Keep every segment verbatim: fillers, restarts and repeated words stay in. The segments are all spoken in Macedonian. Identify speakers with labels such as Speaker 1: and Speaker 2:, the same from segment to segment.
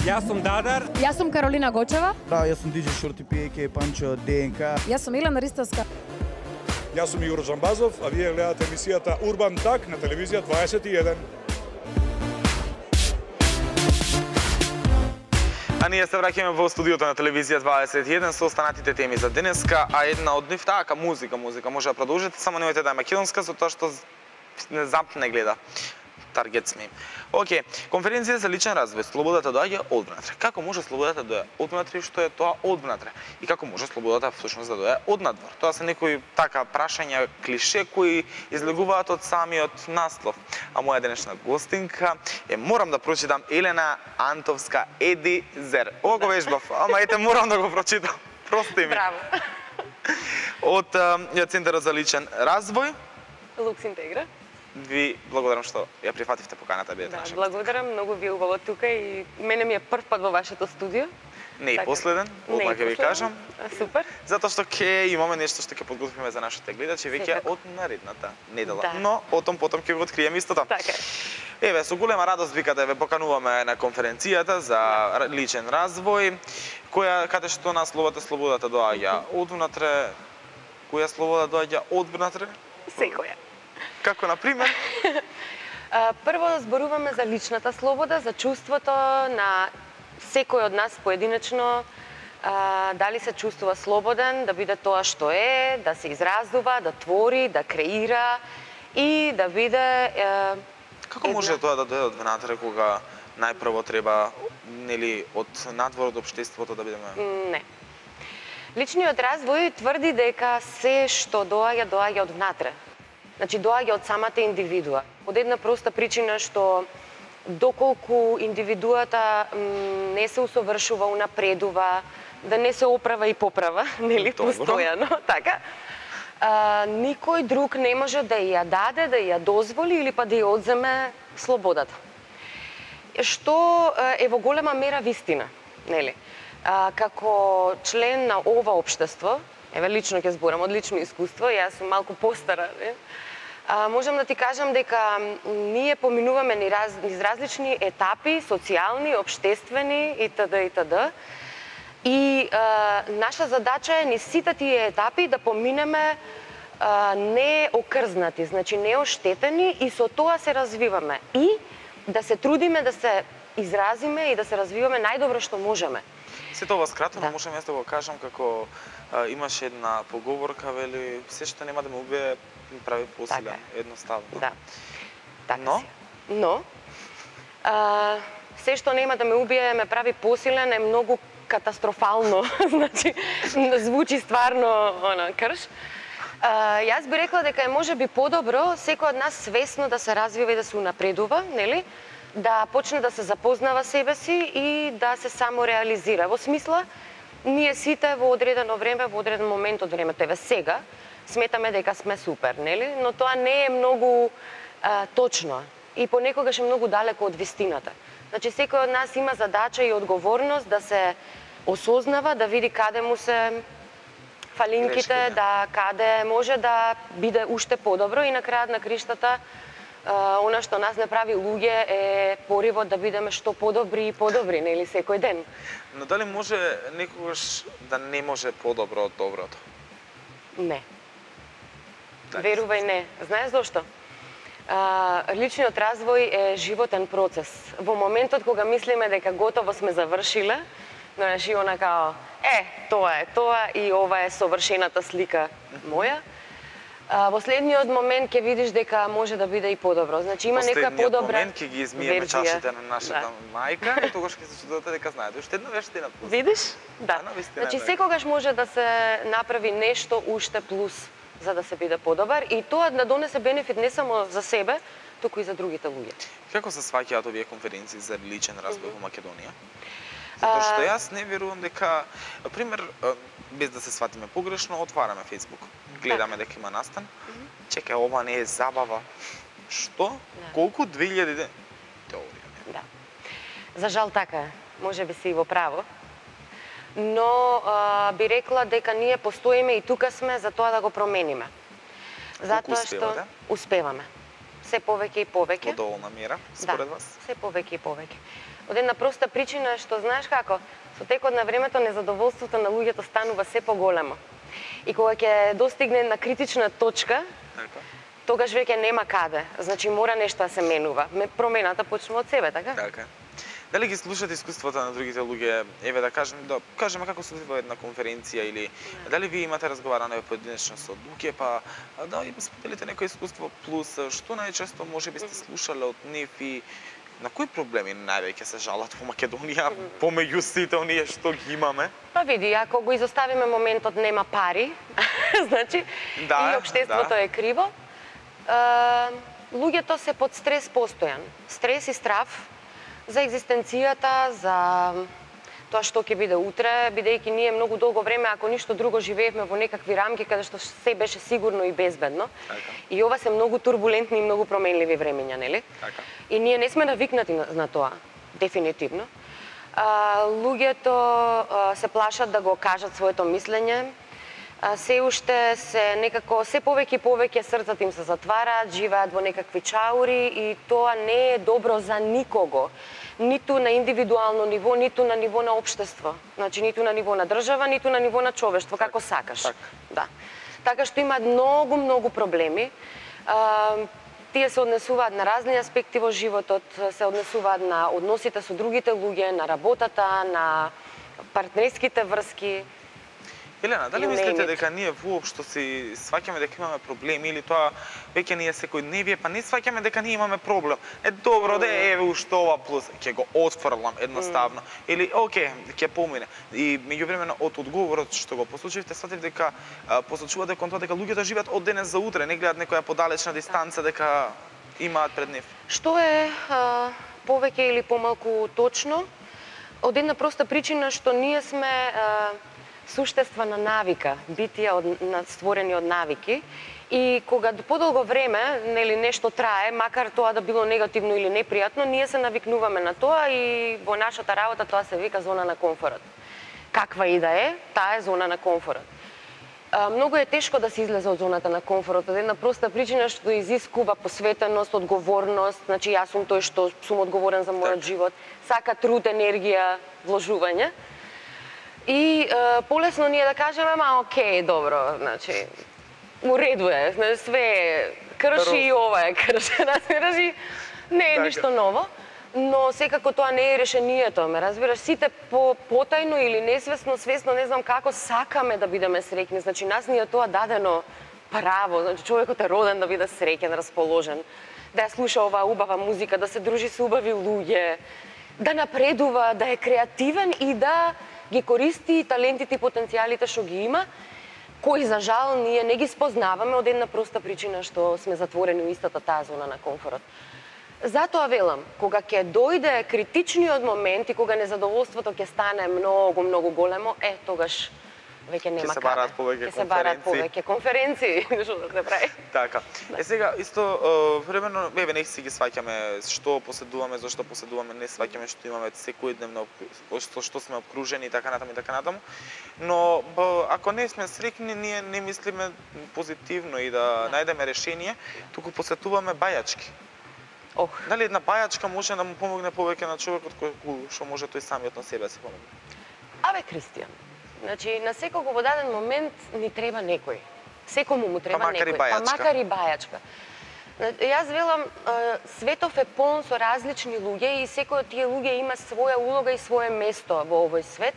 Speaker 1: Јас сум Дадар.
Speaker 2: Јас сум Каролина Гочева.
Speaker 3: Да, јас сум Диџе Шорти Пиеке, Панчо ДНК.
Speaker 2: Јас сум Илена Ристовска.
Speaker 4: Јас сум Игор Джамбазов, а вие гледате емисијата Урбан Так на телевизија дваесет и еден.
Speaker 5: А ние се враќаме во студиото на телевизија дваесет и еден со останатите теми за денеска, а една од нив така музика, музика може да продолжите, само немојте да е македонска, затоа што не замп не гледа. Таргет сме. Океј, конференција за личен развој, слободата доаѓа од внатре. Како може слободата да доаѓа од внатре, што е тоа од внатре? И како може слободата всушност да доаѓа од надвор? Тоа се некои така прашања, клише кои излегуваат од самиот наслов. А моја денешна гостинка е, морам да прочитам, Елена Антовска Едизер. Ова го вежбав, ама ете морам да го прочитам. Прости ми.
Speaker 6: Браво.
Speaker 5: Од Центарот за личен развој.
Speaker 6: Лукс Интегра.
Speaker 5: Ви благодарам што ја прифативте поканата, бидете
Speaker 6: Да,
Speaker 5: наша.
Speaker 6: благодарам, многу ви е убаво тука и мене ми е прв пат во вашето студио.
Speaker 5: Не и
Speaker 6: Така.
Speaker 5: последен,
Speaker 6: Не и
Speaker 5: одмah ќе ви
Speaker 6: последен.
Speaker 5: кажам.
Speaker 6: А, Супер.
Speaker 5: Затоа што ќе имаме нешто што ќе подготвиме за нашите гледачи веќе
Speaker 6: Секако.
Speaker 5: од наредната недела.
Speaker 6: Да.
Speaker 5: Но отом потом ќе го откриеме истото.
Speaker 6: Така е.
Speaker 5: Еве, со голема радост вика да ве покануваме на конференцијата за р- личен развој, која каде што насловата слободата доаѓа од внатре, која слобода доаѓа од внатре,
Speaker 6: Секоја.
Speaker 5: како на пример.
Speaker 6: А, Прво зборуваме за личната слобода, за чувството на секој од нас поединечно, а, дали се чувствува слободен да биде тоа што е, да се изразува, да твори, да креира и да биде е,
Speaker 5: Како
Speaker 6: една-
Speaker 5: може тоа да дојде од внатре кога најпрво треба нели од надвор од општеството да бидеме?
Speaker 6: Не. Личниот развој тврди дека се што доаѓа, доаѓа од внатре. Значи, доаѓа од самата индивидуа. Од една проста причина што доколку индивидуата м, не се усовршува, унапредува, да не се оправа и поправа, нели,
Speaker 5: Добро.
Speaker 6: постојано, така, а, никој друг не може да ја даде, да ја дозволи или па да ја одземе слободата. Што е во голема мера вистина, нели? А, како член на ова општество, еве лично ќе зборам од лично искуство, јас сум малку постара, не? А, можам да ти кажам дека м, ние поминуваме низ, раз, низ различни етапи, социјални, општествени итд. итд. И а, наша задача е низ сите тие етапи да поминеме а, не окрзнати, значи не оштетени и со тоа се развиваме. И да се трудиме да се изразиме и да се развиваме најдобро што можеме.
Speaker 5: Сето ова скратено
Speaker 6: Да.
Speaker 5: можам јас да го кажам како а, имаше една поговорка, вели, се што нема да ме убие, ми прави посилен,
Speaker 6: Така е.
Speaker 5: едноставно.
Speaker 6: Да. Така
Speaker 5: Но?
Speaker 6: си. Но а, се што нема да ме убие ме прави посилен е многу катастрофално. Значи звучи стварно она крш. А, јас би рекла дека е можеби подобро секој од нас свесно да се развива и да се унапредува, нели? Да почне да се запознава себе си и да се самореализира. Во смисла, ние сите во одредено време, во одреден момент од времето, еве сега, сметаме дека сме супер, нели? Но тоа не е многу а, точно и понекогаш е многу далеко од вистината. Значи, секој од нас има задача и одговорност да се осознава, да види каде му се фалинките,
Speaker 5: Грешките.
Speaker 6: да каде може да биде уште подобро и на крајот на криштата а, она што нас не прави луѓе е поривот да бидеме што подобри и подобри, нели, секој ден.
Speaker 5: Но дали може некогаш да не може подобро од доброто?
Speaker 6: Не.
Speaker 5: Дали
Speaker 6: Верувај не. Знаеш зошто? А, личниот развој е животен процес. Во моментот кога мислиме дека готово сме завршиле, знаеш, и она као, е, тоа е тоа и ова е совршената слика моја, а, во следниот момент ќе видиш дека може да биде и подобро. Значи има нека
Speaker 5: Последниот
Speaker 6: подобра
Speaker 5: момент ќе ги измиеме
Speaker 6: верзија.
Speaker 5: чашите на нашата
Speaker 6: Да.
Speaker 5: мајка и тогаш ќе се чудувате дека знаете уште една вештина плюс.
Speaker 6: Видиш? Да.
Speaker 5: А, навистина
Speaker 6: Значи
Speaker 5: е така.
Speaker 6: секогаш може да се направи нешто уште плюс за да се биде подобар и тоа да донесе бенефит не само за себе, туку и за другите луѓе.
Speaker 5: Како се сваќаат овие конференции за личен развој во Македонија? Затоа што
Speaker 6: А,
Speaker 5: јас не верувам дека, на пример, без да се сватиме погрешно, отвараме Facebook, гледаме дека има настан. Чекај, ова не е забава. Што?
Speaker 6: Да.
Speaker 5: Колку две илјади де- теорија? Не.
Speaker 6: Да. За жал така е. Може би си и во право. Но а, би рекла дека ние постоиме и тука сме за тоа да го промениме. Затоа што
Speaker 5: успевате?
Speaker 6: успеваме. Се повеќе и повеќе.
Speaker 5: Во доволна мера, според
Speaker 6: Да,
Speaker 5: вас?
Speaker 6: се повеќе и повеќе. Од една проста причина што знаеш како, со текот на времето незадоволството на луѓето станува се поголемо. И кога ќе достигне на критична точка,
Speaker 5: Така.
Speaker 6: тогаш веќе нема каде. Значи мора нешто да се менува. Промената почнува од себе, така?
Speaker 5: Така. Дали ги слушате искуствата на другите луѓе, еве да кажем, да кажеме како се одвива една конференција или
Speaker 6: Не.
Speaker 5: дали ви имате разговаране поединечно со луѓе, па да им споделите некој искуство плюс што најчесто можеби сте слушале од нив и на кои проблеми највеќе се жалат во Македонија помеѓу сите оние што ги имаме?
Speaker 6: Па види, ако го изоставиме моментот нема пари, значи
Speaker 5: Да,
Speaker 6: и општеството
Speaker 5: да.
Speaker 6: е криво, е, луѓето се под стрес постојан. Стрес и страф за екзистенцијата, за тоа што ќе биде утре, бидејќи ние многу долго време, ако ништо друго, живеевме во некакви рамки каде што се беше сигурно и безбедно.
Speaker 5: Така.
Speaker 6: И ова се многу турбулентни и многу променливи времења, нели?
Speaker 5: Така.
Speaker 6: И ние не сме навикнати на, на тоа, дефинитивно. А, луѓето а, се плашат да го кажат своето мислење, а, се уште се некако, се повеќе и повеќе срцата им се затвараат, живеат во некакви чаури и тоа не е добро за никого. Ниту на индивидуално ниво, ниту на ниво на општество. Значи, ниту на ниво на држава, ниту на ниво на човештво, како сакаш.
Speaker 5: така.
Speaker 6: Да. Така што имаат многу, многу проблеми. А, тие се однесуваат на разни аспекти во животот, се однесуваат на односите со другите луѓе, на работата, на партнерските врски.
Speaker 5: Елена, дали
Speaker 6: You
Speaker 5: мислите
Speaker 6: name it.
Speaker 5: дека ние воопшто си сваќаме дека имаме проблеми или тоа веќе ние секојдневие, па не сваќаме дека ние имаме проблем? Е добро, да еве уште ова плюс, ќе го отфрлам едноставно. Или оке, ќе помине. И меѓувремено од одговорот што го послушавте, сватив дека а, посочувате кон тоа дека луѓето живеат од денес за утре, не гледаат некоја подалечна дистанца дека имаат пред нив.
Speaker 6: Што е а, повеќе или помалку точно? Од една проста причина што ние сме а, суштества на навика, битија од, на, створени од навики. И кога подолго време, нели нешто трае, макар тоа да било негативно или непријатно, ние се навикнуваме на тоа и во нашата работа тоа се вика зона на комфорот. Каква и да е, таа е зона на комфорот. А, многу е тешко да се излезе од зоната на комфорот, од една проста причина што изискува посветеност, одговорност, значи јас сум тој што сум одговорен за мојот
Speaker 5: Так.
Speaker 6: живот, сака труд, енергија, вложување. И е, полесно ние да кажеме, ма окей, добро, значи, у реду е, значи, све е, крши и ова е крши, разбираш, и не е
Speaker 5: Така.
Speaker 6: ништо ново, но секако тоа не е решението, ме разбираш, сите по потајно или несвесно, свесно, не знам како, сакаме да бидеме среќни, значи, нас ни е тоа дадено право, значи, човекот е роден да биде среќен, расположен, да ја слуша оваа убава музика, да се дружи со убави луѓе, да напредува, да е креативен и да ги користи талентите и потенцијалите што ги има, кои за жал ние не ги спознаваме од една проста причина што сме затворени во истата таа зона на комфорот. Затоа велам, кога ќе дојде критичниот момент и кога незадоволството ќе стане многу, многу големо, е, тогаш веќе нема
Speaker 5: се
Speaker 6: каде.
Speaker 5: бараат повеќе
Speaker 6: Ќе се бараат
Speaker 5: конференции.
Speaker 6: повеќе конференции, што да се прави.
Speaker 5: Така. Е сега исто е, времено еве не си ги сваќаме што поседуваме, зашто поседуваме, не сваќаме што имаме секојдневно што што сме обкружени и така натаму и така натаму. Но б, ако не сме среќни, ние не мислиме позитивно и да,
Speaker 6: Да.
Speaker 5: најдеме решение, туку посетуваме бајачки.
Speaker 6: Ох,
Speaker 5: Дали една бајачка може да му помогне повеќе на човекот кој што може тој самиот на себе се помогне?
Speaker 6: абе Кристијан, значи на секого во даден момент ни треба некој. Секому му треба
Speaker 5: макар и
Speaker 6: некој,
Speaker 5: бајачка.
Speaker 6: па макар и бајачка. Јас велам, е, светов е полн со различни луѓе и секој од тие луѓе има своја улога и свое место во овој свет.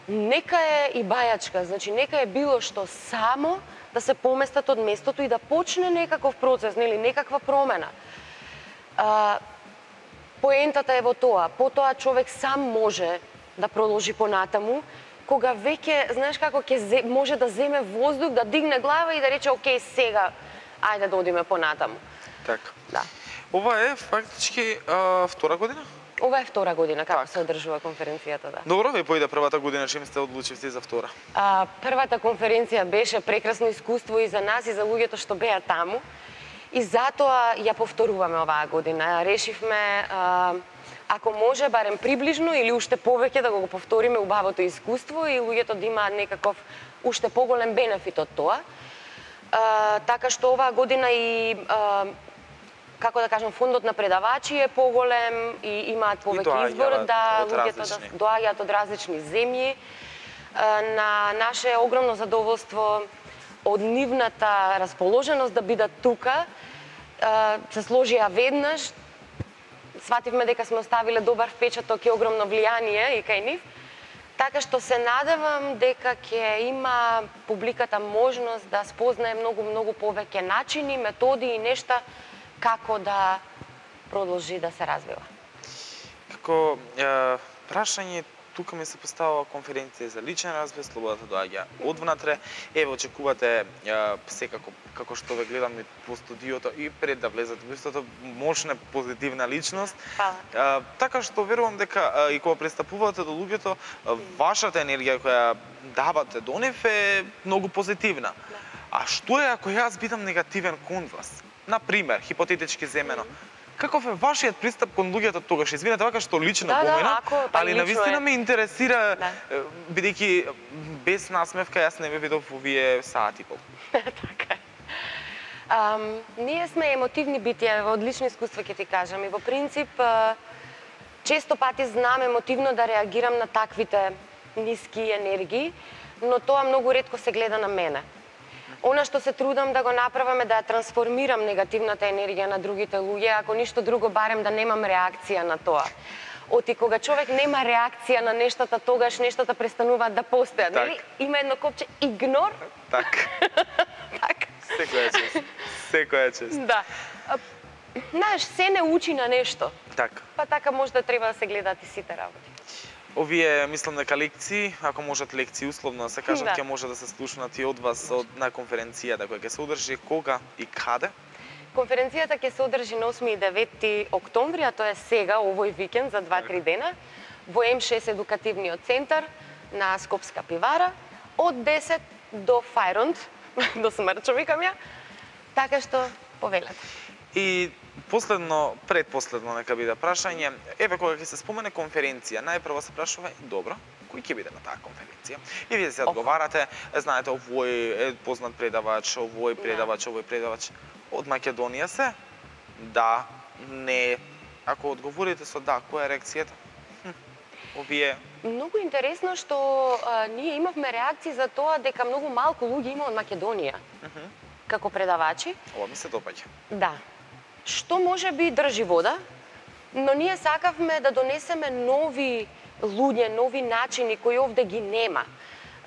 Speaker 6: Нека е и бајачка, значи нека е било што само да се поместат од местото и да почне некаков процес, нели, некаква промена. А, поентата е во тоа, потоа човек сам може да продолжи понатаму, кога веќе, знаеш како, ќе може да земе воздух, да дигне глава и да рече, окей, сега, ајде да одиме понатаму.
Speaker 5: Така.
Speaker 6: Да.
Speaker 5: Ова е фактички а, втора година?
Speaker 6: Ова е втора година како
Speaker 5: Така.
Speaker 6: се одржува конференцијата, да.
Speaker 5: Добро, ве поиде првата година, чим сте одлучивте за втора?
Speaker 6: А, првата конференција беше прекрасно искуство и за нас и за луѓето што беа таму. И затоа ја повторуваме оваа година. Решивме, а, ако може, барем приближно или уште повеќе да го повториме убавото искуство и луѓето да имаат некаков уште поголем бенефит од тоа. А, така што оваа година и а, како да кажам, фондот на предавачи е поголем и имаат повеќе избор, да луѓето да доаѓаат од различни земји. На наше огромно задоволство од нивната расположеност да бидат тука, се сложија веднаш, свативме дека сме оставиле добар впечаток и огромно влијание и кај нив, така што се надевам дека ќе има публиката можност да спознае многу, многу повеќе начини, методи и нешта како да продолжи да се развива.
Speaker 5: Како е, прашање, тука ми се поставува конференција за личен развој, слободата доаѓа одвнатре. Еве, очекувате е, секако, како што ве гледам и по студиото и пред да влезете во истото, мощна позитивна личност.
Speaker 6: Фала.
Speaker 5: Е, така што верувам дека е, и кога пристапувате до луѓето, е, вашата енергија која давате до нив е многу позитивна.
Speaker 6: Да.
Speaker 5: А што е ако јас бидам негативен кон вас? Например, хипотетички земено. Mm -hmm. Каков е вашиот пристап кон луѓето тогаш? Извинете, вака што лично
Speaker 6: да,
Speaker 5: помина,
Speaker 6: да, ако,
Speaker 5: али навистина
Speaker 6: е.
Speaker 5: ме интересира,
Speaker 6: да.
Speaker 5: бидејќи без насмевка јас не ме видов овие саат и пол.
Speaker 6: Така е. Um, ние сме емотивни битија, од лично искуство ќе ти кажам, и во принцип uh, често пати знам емотивно да реагирам на таквите ниски енергии, но тоа многу ретко се гледа на мене. Она што се трудам да го направам е да ја трансформирам негативната енергија на другите луѓе, ако ништо друго барем да немам реакција на тоа. Оти кога човек нема реакција на нештата, тогаш нештата престануваат да постојат,
Speaker 5: так.
Speaker 6: нели? Има едно копче игнор.
Speaker 5: Так.
Speaker 6: Так.
Speaker 5: Секоја чест. Секоја чест.
Speaker 6: Да. Знаеш, се не учи на нешто.
Speaker 5: Так.
Speaker 6: Па така може да треба да се гледаат и сите работи.
Speaker 5: Овие, мислам дека лекции, ако можат лекции условно да се кажат,
Speaker 6: да.
Speaker 5: ќе може да се слушнат и од вас од, на конференцијата која ќе се одржи кога и каде?
Speaker 6: Конференцијата ќе се одржи на осми и девети октомври, а тоа е сега, овој викенд, за два-три дена, во Ем шест едукативниот центар на Скопска пивара, од десет до Фајронд, до смрчо викам ја, така што повелете.
Speaker 5: И последно, предпоследно нека биде прашање, еве кога ќе се спомене конференција, најпрво се прашува, добро, кој ќе биде на таа конференција? И вие се одговарате, знаете, овој е познат предавач, овој предавач, овој предавач. Од Македонија се? Да, не. Ако одговорите со да, која е реакцијата? Хм, овие...
Speaker 6: Многу интересно што а, ние имавме реакции за тоа дека многу малку луѓе има од Македонија. Uh -huh. Како предавачи.
Speaker 5: Ова ми се допаѓа.
Speaker 6: Да. Што може би држи вода, но ние сакавме да донесеме нови луѓе, нови начини кои овде ги нема.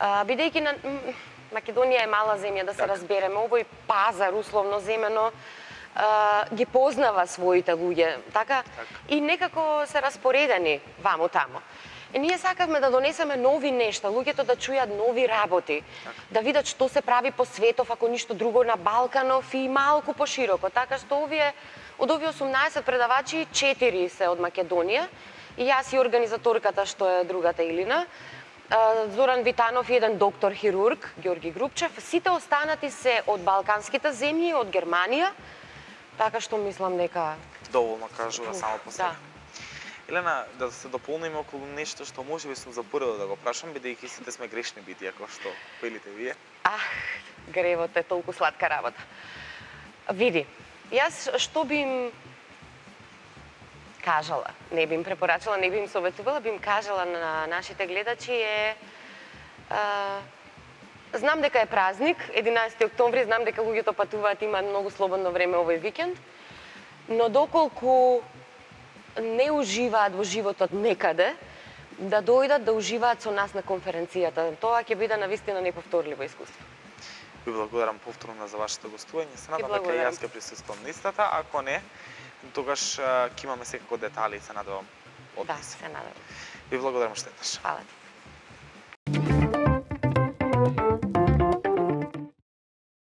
Speaker 6: А, бидејќи на Македонија е мала земја, да се так. разбереме, овој пазар условно земено а, ги познава своите луѓе, така?
Speaker 5: так?
Speaker 6: И некако се распоредени ваму тамо. И ние сакавме да донесеме нови нешта, луѓето да чујат нови работи, так. да видат што се прави по светов, ако ништо друго на Балканов и малку пошироко. Така што овие, од овие осумнаесет предавачи, четири се од Македонија, и јас и организаторката што е другата Илина, Зоран Витанов и еден доктор хирург, Ѓорги Грубчев, сите останати се од балканските земји, од Германија, така што мислам дека...
Speaker 5: Доволно кажува само по себе.
Speaker 6: Да.
Speaker 5: Елена, да се дополниме околу нешто што може би сум заборавил да го прашам, бидејќи сите сме грешни битија, како што велите вие.
Speaker 6: Ах, гревот е толку сладка работа. Види, јас што би им кажала, не би им препорачала, не би им советувала, би им кажала на нашите гледачи е... А, знам дека е празник, единаесети октомври, знам дека луѓето патуваат, имаат многу слободно време овој викенд, но доколку не уживаат во животот некаде, да дојдат да уживаат со нас на конференцијата. Тоа ќе биде навистина неповторливо искуство.
Speaker 5: Ви благодарам повторно за вашето гостување. Се надам дека и јас ќе присуствувам на истата, ако не, тогаш ќе имаме секако детали, се надевам од
Speaker 6: Да,
Speaker 5: нас.
Speaker 6: се надевам.
Speaker 5: Ви благодарам што еднаш.
Speaker 6: Фала ти.